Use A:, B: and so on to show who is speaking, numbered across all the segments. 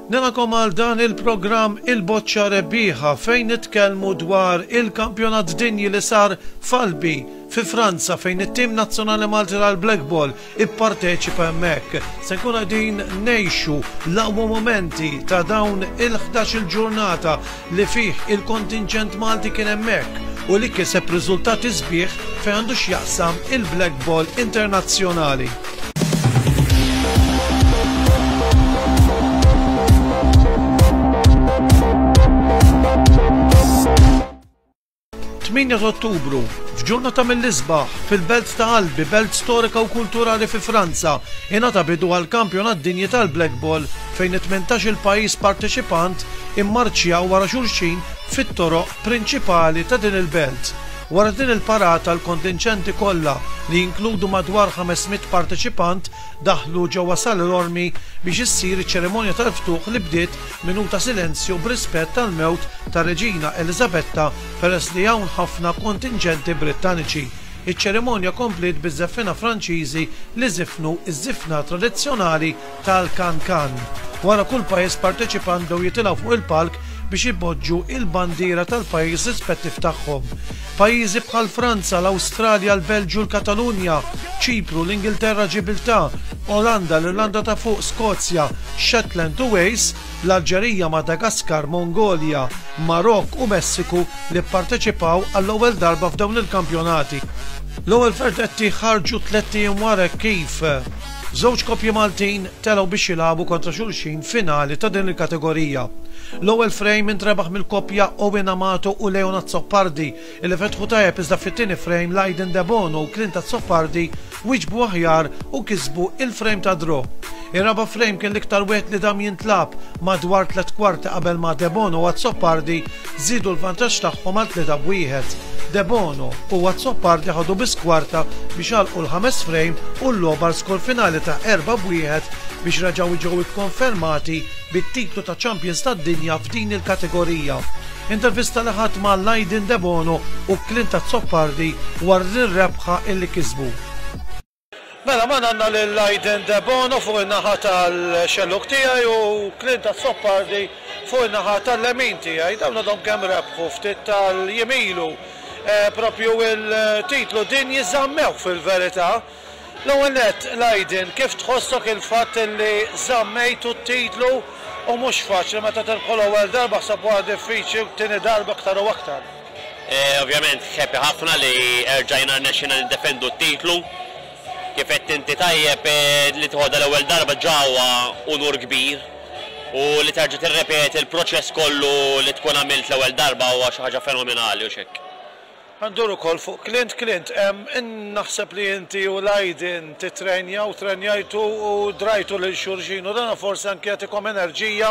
A: Nilqagħkom għal dan il-programm Il-Boċċa Rebbieħa fejn nitkellmu dwar il-kampjonat dinji li sar f'Albi fi Franza fejn it-tim nazzjonali Malti tal-Blackball ipparteċipa hemmhekk. Se nkunu qegħdin ngħixu l-aqwa momenti ta' dawn il-11 il-ġurnata li fih il-kontinġent Malti kien hemmhekk u li kiseb riżultati sbieħ fejn għandu x'jaqsam il-Blackball internazzjonali. 8 ta' Ottubru, f'ġurnata mill-isbaħ, fil-belt ta' Albi, belt storika u kulturali fi Franza, ingħata bidu għall-Kampjonat Dinji tal-Blackball fejn it-18-il pajjiż parteċipant immarċjaw wara xulxin fit-toroq prinċipali ta' din il-belt. Wara din il-parata l-kontinġenti kollha, li jinkludu madwar 500 parteċipant, daħlu ġewwa Salle Lormi biex issir iċ-ċerimonja tal-ftuħ li bdiet minuta silenzju b'rispett għall-mewt tar-Reġina Eliżabetta peress li hawn ħafna kontinġenti Brittaniċi. Iċ-ċerimonja kompliet biż-żeffiena Franċiżi li żifnu ż-żifna tradizzjonali tal-Can-Can. Wara kull pajjiż parteċipant bdew jitilgħu fuq il-palk biex ipoġġu il-bandiera tal-pajjiż rispettiv tagħhom. Pajjiżi bħal Franza, l-Awstralja, l-Belġju, l-Katalunja, Ċipru, l-Ingilterra, Ġibiltà, Olanda, l-Irlanda ta' Fuq, Skozja, Shetland u Wales, l-Alġerija, Madagaskar, Mongolja, Marokk u Messiku li pparteċipaw għall-ewwel darba f'dawn il-kampjonati. L-ewwel verdetti ħarġu tlett ijiem wara hekk kif żewġ koppji Maltin telgħu biex jilagħbu kontra xulxin finali ta' din il-kategorija. L-ewwel frame intrebaħ mill-koppja Owen Amato u Leon Azzopardi li fetħu tajjeb iżda fit-tieni frame Lydon Debono u Clint Azzopardi wieġbu aħjar u kisbu il-frame ta' draw. Ir-raba' frame kien l-iktar wieħed li dam jintlagħab madwar tlett kwarti qabel ma Debono u Azzopardi żiedu l-vantaġġ tagħhom għal 3-1. Debono u Azzopardi ħadu biss kwarta biex għalqu l-ħames frame u l-logħba għal skor finali ta' 4-1 biex reġgħu ġew ikkonfermati bit-titlu ta' Champions tad-Dinja f'din il-kategorija. Intervista li ħadt ma' Lydon Debono u Clint Azzopardi wara din ir-rebħa illi kisbu. Mela magħna għandna lil Lydon Debono fuq in-naħa tal-xellug tiegħi u Clint Azzopardi fuq in-naħa tal-lemin tiegħi. Dawn għadhom kemm rebħu ftit tal-jiem ilu propju il-titlu dinji żammewh fil-verità. L-ewwel nett, Lydon, kif tħossok il-fatt li żammejtu t-titlu u mhux faċli meta tirbħu l-ewwel darba ħseb wara diffiċli u t-tieni darba aktar u aktar.
B: Ovvjament happy ħafna li erġajna rnexxielna niddefendu t-titlu. Kif għedt inti tajjeb li tieħodha l-ewwel darba ġa huwa unur kbir u li terġa' tirrepeti l-proċess kollu li tkun għamilt l-ewwel darba huwa xi ħaġa fenomenali u x'hekk.
A: Ħa ndur ukoll fuq Clint. Clint, naħseb li inti u Lydon tittrenjaw, trenjajtu u drajtu lil xulxin u dan forsi anke jagħtikom enerġija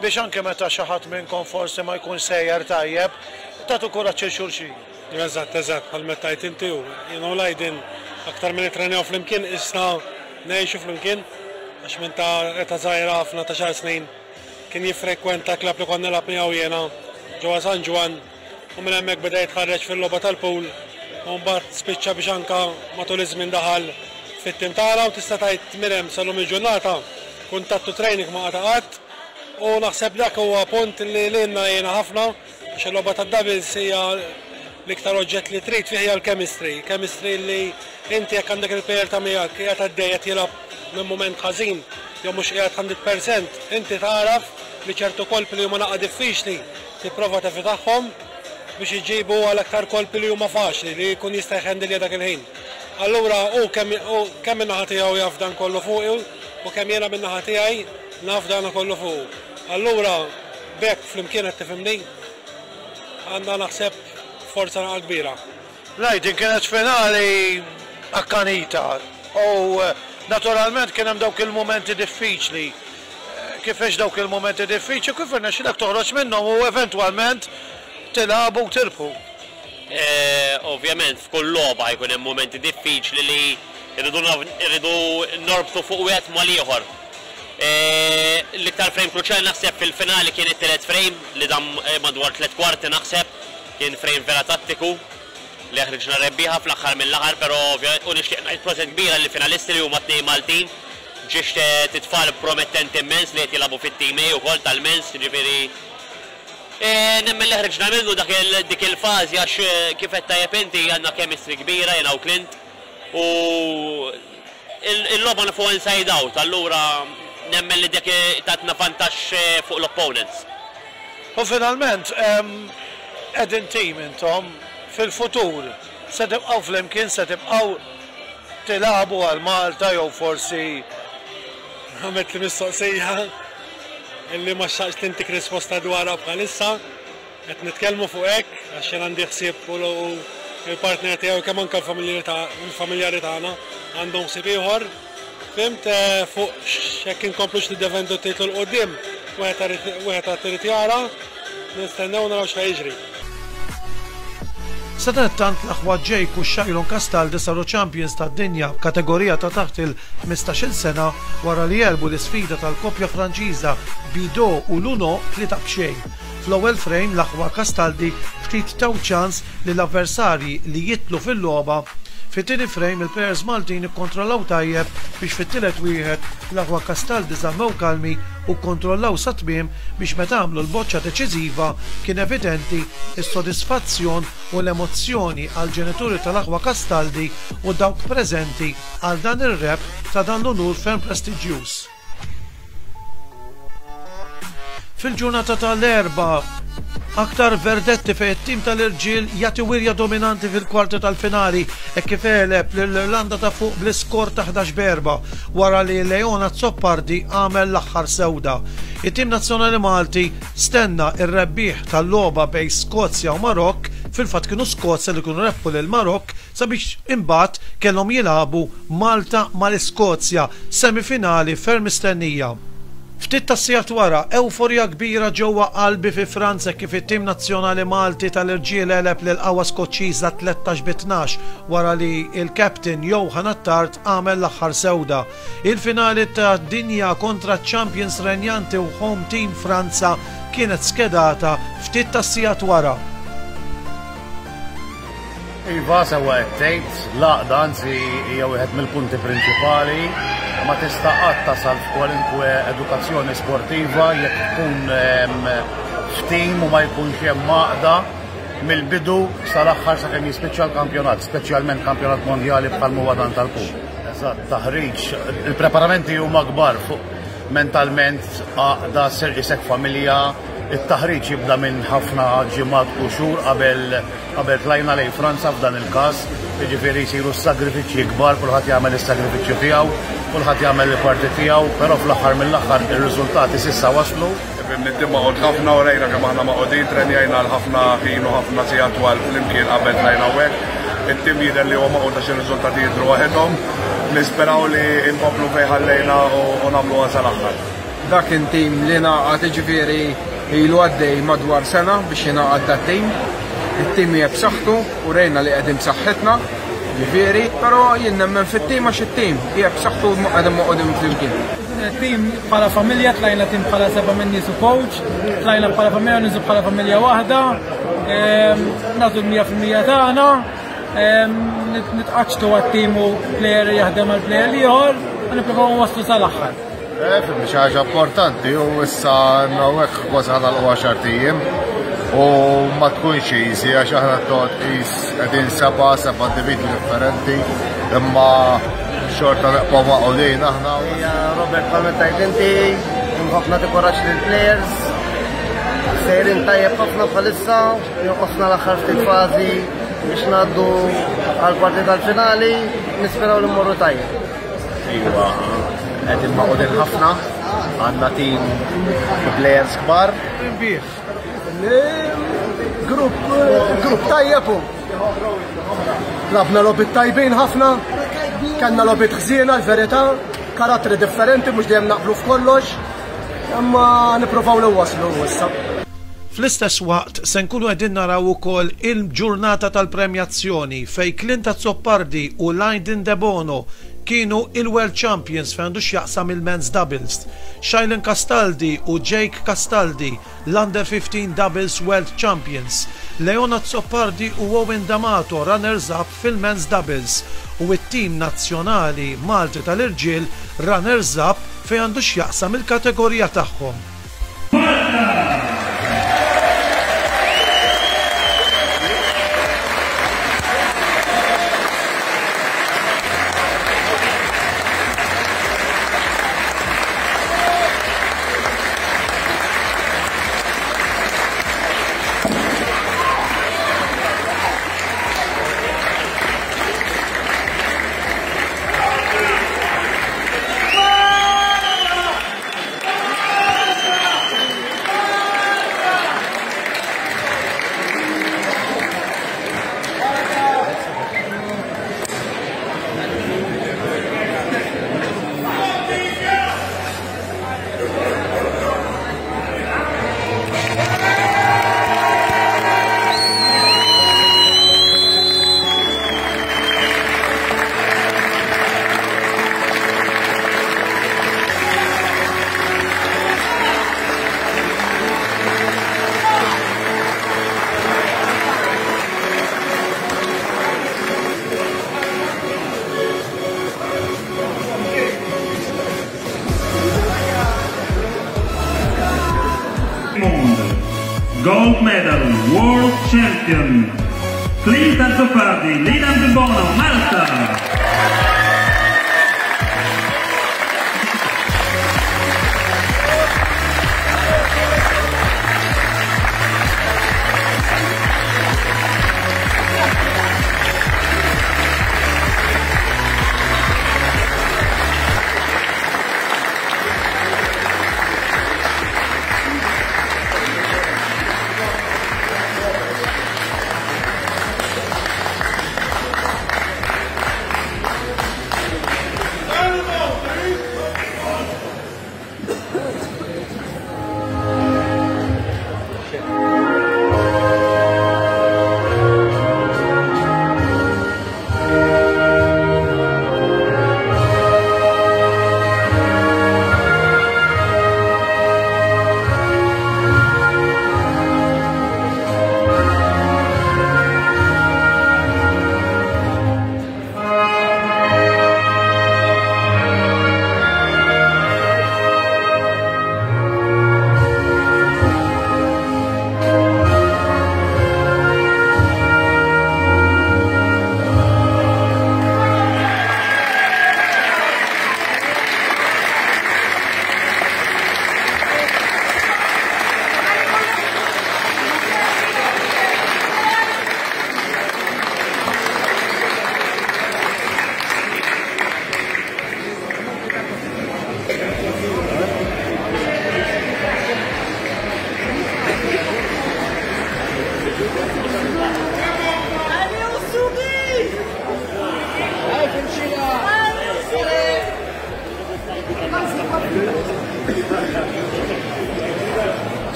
A: biex anke meta xi ħadd minnkom forsi ma jkunx sejjer tajjeb, tagħtu kuraġġ lil xulxin.
C: Eżatt, eżatt, bħal meta tgħid inti u jiena u Lydon aktar milli nittrenjaw flimkien qisna ngħixu flimkien għax minn ta' età żgħira ħafna ta' xahar snin kien jiffrekwenta klabb li kont nilgħab miegħu jiena ġewwa San Ġwann u minn hemmhekk beda jitħarreġ fil-logħba tal-pool u mbagħad spiċċa biex anke matul iż-żmien daħal fit-tim tagħna u tista' tgħid minn hemm sal-lum il-ġurnata kuntatt u training ma qata' qatt u naħseb dak huwa punt li lilna jgħinna ħafna għax il-logħba tad-doubles hija l-iktar oġġett li trid fih hija l-chemistry, chemistry li inti jekk għandek il-player ta' miegħek qiegħed għaddej qed jilgħab minn mument ħażin jew mhux qiegħed 100% inti tagħraf li ċertu kolpi li huma naqa' diffiċli Tipprova tevitahom biex iġibu għal aktar kolpi li huma faċli li jkun jista' jħendilja dak il-ħin. Allura hu kemm hu kemm min-naħa tiegħu jaf dan kollu fuqi u kemm jiena min-naħa tiegħi naf dana kollu fuqu. Allura b'hekk flimkien qed tifhimni għandna naħseb forza naqa' kbira.
A: Ngħid din kienet finali akkanita u naturalment kien hemm dawk il-mumenti diffiċli. Kif għext dawk il-mumenti diffiċli u kif irnexxielek toħroġ minnhom u eventwalment tilagħbu u tirbħu?
B: Ovvjament f'kull logħba jkun hemm mumenti diffiċli li rridu rridu norbtu fuq wieħed mal-ieħor. L-iktar frame kruċjali naħseb fil-finali kien it-tielet frame li dam madwar tliet kwarti naħseb. Kien frame vera tattiku li ħriġna rebbieħa fl-aħħar mill-aħħar però u nixtieq ngħid proset kbira lill-finalisti li huma tnejn Maltin. Ġiex tfal promettenti immens li qed jilagħbu fit-team A wkoll tal-mens, jiġifieri nemmen li ħriġna minnu dak dik il-fażi għax kif għedt tajjeb inti għandna chemistry kbira jiena u Clint u il-logħba nafuha inside out allura nemmen li dik tatna vantaġġ fuq l-opponents.
A: U finalment qegħdin team intom fil-futur se tibqgħu flimkien se tibqgħu tilagħbu għal Malta jew forsi.
C: Għamiltli mistoqsija illi ma xtaqtx li ntik risposta dwarha bħalissa. Qed nitkellmu fuq hekk għax jien għandi ħsieb u l-partner tiegħi kemm anke l-familjari tagħna għandhom ħsieb ieħor. Fhimt fuq jekk inkomplux niddefendu t-titlu 'l quddiem, wieħed għad irid jara, nistennew naraw x'ħa jiġri.
A: Sadanittant l-aħwa Jake u Shailon Castaldi saru champions tad-dinja f'kategorija ta' taħt il-ħmistax-il sena wara li għelbu l-isfida tal-koppja Franċiża Bidot u Lunot 3-0. Fl-ewwel frame l-aħwa Castaldi ftit taw ċans lill-avversarji li jidħlu fil-logħba. Fit-tieni frame il-players Maltin ikkontrollaw tajjeb biex fit-tielet wieħed l-aħwa Castaldi żammew kalmi u kkontrollaw sat-tmiem biex meta għamlu l-boċċa deċiżiva kien evidenti s-sodisfazzjon u l-emozzjoni għall-ġenituri tal-aħwa Castaldi u dawk preżenti għal dan ir-rebħ ta' dan l-unur ferm prestiġjuż. Fil-ġurnata tal-Erbgħa, aktar verdetti fejn it-tim tal-irġiel jagħti wirja dominanti fil-kwarti tal-finali hekk kif għeleb lill-Irlanda ta' Fuq bl-iskor ta' 11 b'erbgħa wara li Leon Azzopardi għamel l-aħħar sewda. It-tim nazzjonali Malti stenna r-rebbieħ tal-logħba bejn Skozja u Marokk, fil-fatt kienu Skozja li kienu rebħu lil Marokk sabiex imbagħad kellhom jilagħbu Malta mal-Iskozja, semifinali ferm mistennija. Ftit tas-sigħat wara, ewforija kbira ġewwa Albi fi Franza hekk kif it-tim nazzjonali Malti tal-irġiel għeleb lill-qawwa Skoċċiża 13 bi 12 wara li l-captain Johan Attard għamel l-aħħar sewda. Il-finali tad-dinja kontra ċ-champions renjanti u home team Franza kienet skedata ftit tas-sigħat wara.
D: Iva, sewwa qed tgħid, l-għaqda anzi hija wieħed mill-punti prinċipali. Ma tista' qatt tasal f'kwalinkwe edukazzjoni sportiva jekk tkun ehm, f'tim u ma jkunx hemm għaqda mill-bidu sal-aħħar sakemm jispiċċa l-kampjonat, speċjalment kampjonat mondjali bħal huwa dan tal-kum. Eżatt, taħriġ, il-preparamenti huma kbar fuq mentalment għaqda ser isek familja, it-taħriġ jibda minn ħafna ġimgħat u xhur qabel Qabel tlajna lejn Franza f'dan il-każ, jiġifieri jsiru s-sagrifiċċji kbar, kulħadd jagħmel is-sagrifiċċju tiegħu, kulħadd jagħmel il-parti tiegħu, però fl-aħħar mill-aħħar ir-riżultati s'issa waslu.
E: Ifhimni t-tim magħqud ħafna u rejna kemm aħna magħqudin, trenjajna għal ħafna ħin u ħafna sigħat twal flimkien qabel tlajna hawnhekk. It-tim jidher li huwa magħqud għax ir-riżultati jidhru waħedhom. Nisperaw li nkomplu fejn ħallejna u nagħmluha sal-aħħar.
F: Dak kien tim li ngħaqad jiġifieri ilu għaddej madwar sena biex jingħaqad dat-tim. It-tim hija b'saħħtu u rejna li qegħdin b'saħħitna, jiġifieri, però jien nemmen fit-tim għax it-tim hija b'saħħtu u qegħdin magħqudin flimkien.
G: Tim bħala familja, tlajna tim bħala seba' minn nies u coach, tlajna bħala familja u niżu bħala familja waħda, ehm, nagħtu l-100% tagħna, ehm, nitqaċċtu għat-tim u player jaħdem għal player ieħor, u nippruvaw waslu sal-aħħar.
E: Eh, fimni xi ħaġa importanti u issa hawnhekk kważi ħanalqu għaxar ijiem u ma tkunx easy għax aħna toqgħod qis qegħdin seba' seba' individwi differenti imma xorta neqgħu maqgħudin aħna.
H: Robert bħalma tajt inti, nħobb nagħti kuraġġ lill-players. Sejrin tajjeb ħafna bħalissa, jonqosna l-aħħar ftit fażi biex ngħaddu għal-kwarti tal-finali, nisperaw li mmorru tajjeb.
D: Iva, qegħdin magħqudin ħafna, għandna tim players kbar.
F: Rinbieħ. Grupp grupp tajjeb u. Labna lobit tajbin ħafna, kellna lobit ħżiena l-verità, karattri differenti mhux dejjem naqblu f'kollox, imma nippruvaw li waslu issa.
A: Fl-istess waqt se nkunu qegħdin naraw ukoll il-ġurnata tal-premjazzjoni fejn Clint Azzopardi u Lydon Debono. kienu il-World Champions fejn għandu x'jaqsam il-Men's Doubles. Shailen Castaldi u Jake Castaldi, l-Under 15 Doubles World Champions. Leon Azzopardi u Owen D'Amato runners up fil-Men's Doubles u t-tim nazzjonali Malti tal-irġiel runners up fejn għandu x'jaqsam il-kategorija tagħhom.
I: Gold medal, world champion, Clint Azzopardi, Lidan Debono, Malta.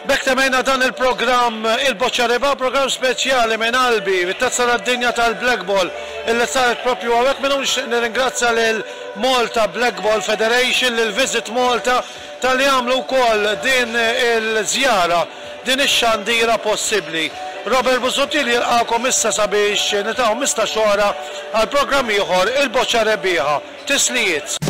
A: B'hekk temmejna dan il-programm Il-Boċċa Reba, programm speċjali minn qalbi, bit-Tazza tad-Dinja tal-Blackball illi saret propju hawnhekk. Minn hawn nixtieq nirringrazzja lil Malta Blackball Federation, lil Visit Malta talli għamlu wkoll din il-żjara, din ix-xandira possibbli. Robert Busuttil jilqagħkom issa sabiex niltaqgħu 15 oħra għal programm ieħor Il-Boċċa Rebbieħa. Tislijiet.